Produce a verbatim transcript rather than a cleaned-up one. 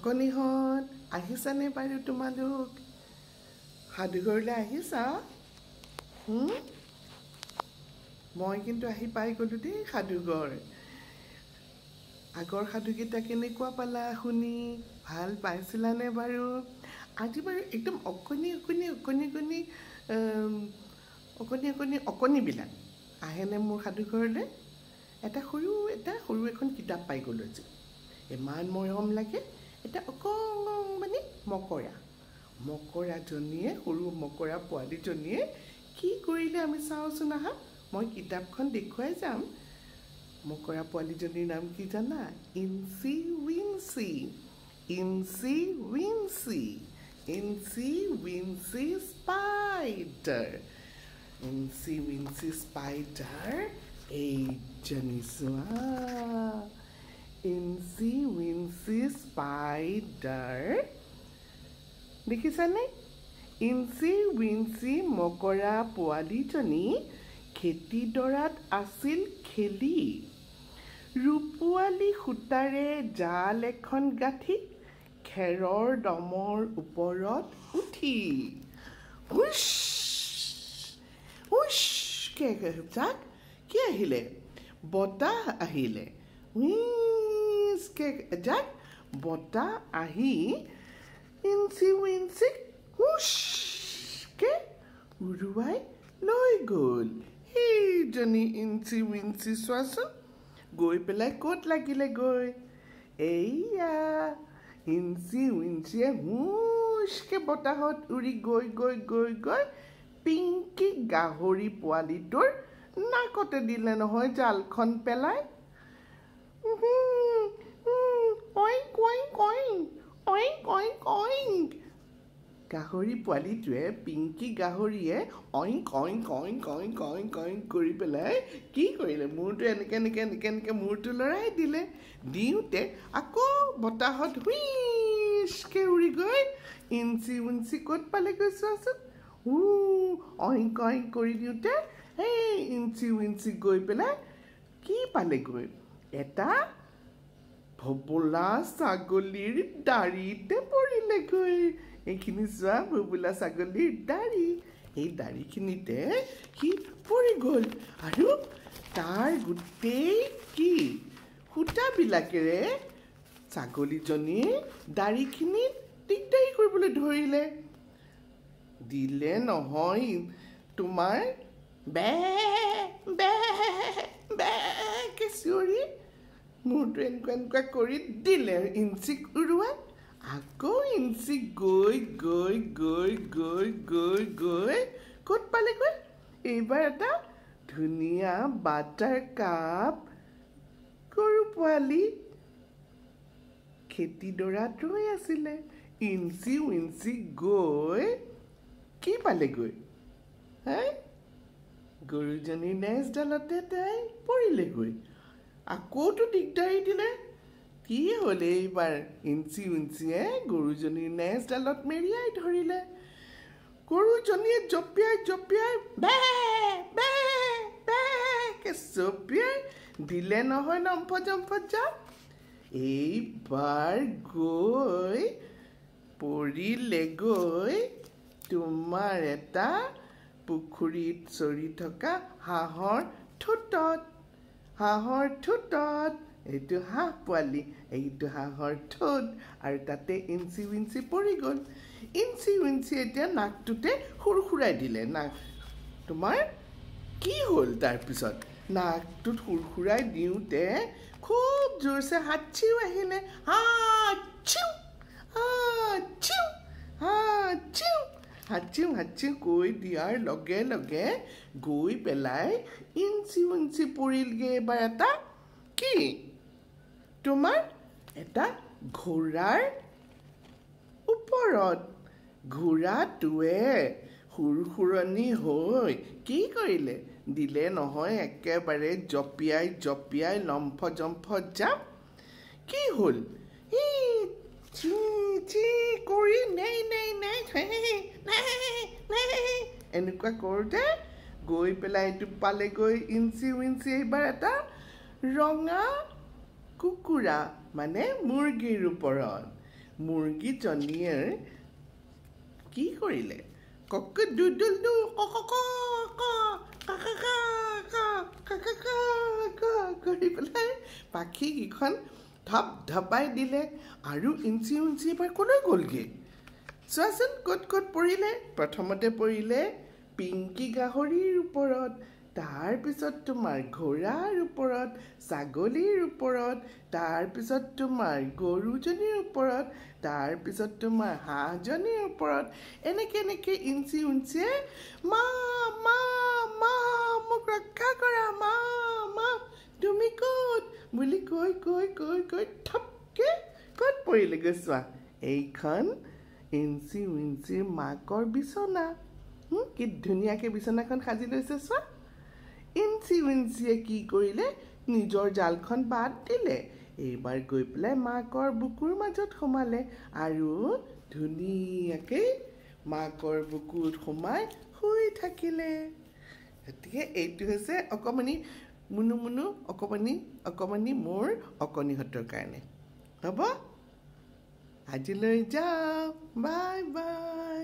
অকণিহঁত আহিছানে বাৰু? তোমালোক সাধুঘৰলৈ আহিছা? মই কিন্তু আহি পাই গ'লোঁ দেই সাধুঘৰ। আগৰ সাধুকেইটা কেনেকুৱা পালা শুনি? ভাল পাইছিলানে বাৰু? আজি বাৰু একদম অকণি অকণি অকণি অকণি অকণি অকণি অকণিবিলাক আহেনে মোৰ সাধুঘৰলৈ? এটা সৰু এটা সৰু এখন কিতাপ পাই গ'লোঁ আজি, ইমান মৰম লাগে। এটা অকণমানি মকৰা, মকৰাজনীয়ে, সৰু মকৰা পোৱালীজনীয়ে কি কৰিলে আমি চাওঁচোন আহা। মই কিতাপখন দেখুৱাই যাম। মকৰা পোৱালীজনীৰ নাম কি জানা? Incy Wincy, Incy Wincy, Incy Wincy spider, Incy Wincy spider. এইজনী চোৱা, ইনচি উইনচি স্পাইডাৰ, দেখিছানে? ইনচি উইনচি মকৰা পোৱালীজনী খেতিডৰাত আছিল খেলি, ৰূপোৱালী সূতাৰে জাল এখন গাঁঠি খেৰৰ দমৰ ওপৰত উঠি হুচ হুচকে যাক কি আহিলে? বতাহ আহিলে। হুইচকে যাক বতাহ আহি ইনচি উইনচিক হুচকে উৰুৱাই লৈ গ'ল। সেইজনী ইনচি উইনচি চোৱাচোন, গৈ পেলাই ক'ত লাগিলে গৈ? এইয়া ইনচি উইনচিয়ে হুচকে বতাহত উৰি গৈ গৈ গৈ গৈ পিংকি গাহৰি পোৱালিটোৰ নাকতে দিলে নহয় জালখন পেলাই। অইং অইং অইং অইং অইং অইং। গাহৰি পোৱালিটোৱে, পিংকি গাহৰিয়ে অইং অইং অইং অইং অইং অইং কৰি পেলাই কি কৰিলে? মূৰটো এনেকৈ এনেকৈ এনেকৈ এনেকৈ মূৰটো লৰাই দিলে। দিওঁতে আকৌ বতাহত হুইচকে উৰি গৈ ইঞ্চি উঞ্চি ক'ত পালেগৈ চোৱাচোন। উ অইং অইং কৰি দিওঁতে সেই ইঞ্চি উইঞ্চি গৈ পেলাই কি পালেগৈ? এটা ভোবোলা ছাগলীৰ দাড়িতে পৰিলেগৈ। এইখিনি চোৱা, ভোবোলা ছাগলীৰ দাড়ি। এই দাড়িখিনিতে সি পৰি গ'ল আৰু তাৰ গোটেই কি সূতাবিলাকেৰে ছাগলীজনীৰ দাড়িখিনিত দিগদাৰি কৰিবলৈ ধৰিলে। দিলে নহয় তোমাৰ বে বে বেকে চিঞৰি মূৰটো এনেকুৱা এনেকুৱা কৰি দিলে ইঞ্চিক উৰুৱাই। আকৌ ইঞ্চি গৈ গৈ গৈ গৈ গৈ গৈ ক'ত পালেগৈ? এইবাৰ এটা ধুনীয়া বাটাৰ কাপ গৰু পোৱালি খেতিডৰাত ৰৈ আছিলে। ইঞ্চি উইঞ্চি গৈ কি পালেগৈ? হে, গৰুজনীৰ নেজডালতে তাই পৰিলেগৈ। আকৌতো দিগদাৰি দিলে। কি হ'ল এইবাৰ? ইঞ্চি উঞ্চিয়ে গৰুজনীৰ নেজডালত মেৰিয়াই ধৰিলে। গৰুজনীয়ে জঁপিয়াই জঁপিয়াই বে বে বেকে জঁপিয়াই দিলে নহয় লম্ফ জম্ফ জাপ। এইবাৰ গৈ পৰিলেগৈ তোমাৰ এটা পুখুৰীত চৰি থকা হাঁহৰ ঠোঁটত। হাঁহৰ ঠোঁটত, এইটো হাঁহ পোৱালি, এইটো হাঁহৰ ঠোঁট, আৰু তাতে ইঞ্চি উইঞ্চি পৰি গ'ল। ইঞ্চি উইঞ্চি এতিয়া নাকটোতে সুৰসুৰাই দিলে। নাক তোমাৰ কি হ'ল তাৰপিছত? নাকটোত সুৰসুৰাই দিওঁতে খুব জোৰছে হাঁচিও আহিলে। হাঁচিও হাঁচিও হাঁচিও হাঁচিও হাঁচিও কৈ দিয়াৰ লগে লগে গৈ পেলাই ইঞ্চি উঞ্চি পৰিলগৈ এবাৰ এটা কি তোমাৰ এটা ঘোঁৰাৰ ওপৰত। ঘোঁৰাটোৱে সুৰসুৰণি হৈ কি কৰিলে? দিলে নহয় একেবাৰে জঁপিয়াই জঁপিয়াই লম্ফ জম্ফ জাপ। কি হ'ল? চি চি কৰি নেই নেই নেই এনেকুৱা কৰোঁতে গৈ পেলাই এইটো পালেগৈ ইঞ্চি উইঞ্চি এইবাৰ এটা ৰঙা কুকুৰা মানে মুৰ্গীৰ ওপৰত। মুৰ্গীজনীয়ে কি কৰিলে? কক ডুডুল do ক ক ক ক ক ক ক ক ক ক কৰি পেলাই পাখি কেইখন ধপ ধপাই দিলে আৰু ইঞ্চি উঞ্চি এবাৰ কলৈ গ'লগৈ চোৱাচোন। ক'ত ক'ত পৰিলে? প্ৰথমতে পৰিলে পিংকি গাহৰিৰ ওপৰত, তাৰপিছত তোমাৰ ঘোঁৰাৰ ওপৰত, ছাগলীৰ ওপৰত, তাৰপিছত তোমাৰ গৰুজনীৰ ওপৰত, তাৰপিছত তোমাৰ হাঁহজনীৰ ওপৰত। এনেকে এনেকে ইঞ্চি উঞ্চিয়ে মা মা মা মোক ৰক্ষা কৰা, মা মা তুমি ক'ত বুলি কৈ কৈ কৈ কৈ থপকে ক'ত পৰিলেগৈ চোৱা। এইখন ইঞ্চি উইঞ্চিৰ মাকৰ বিচনা। কি ধুনীয়াকৈ বিচনাখন সাজি লৈছে চোৱা। ইঞ্চি উইঞ্চিয়ে কি কৰিলে? নিজৰ জালখন বাদ দিলে, এইবাৰ গৈ পেলাই মাকৰ বুকুৰ মাজত সোমালে আৰু ধুনীয়াকৈ মাকৰ বুকুত সোমাই শুই থাকিলে। গতিকে এইটো হৈছে অকণমানি মুনু মুনু অকণমানি অকণমানি মোৰ অকণিহঁতৰ কাৰণে। হ'ব, আজিলৈ যাওঁ, বাই বাই।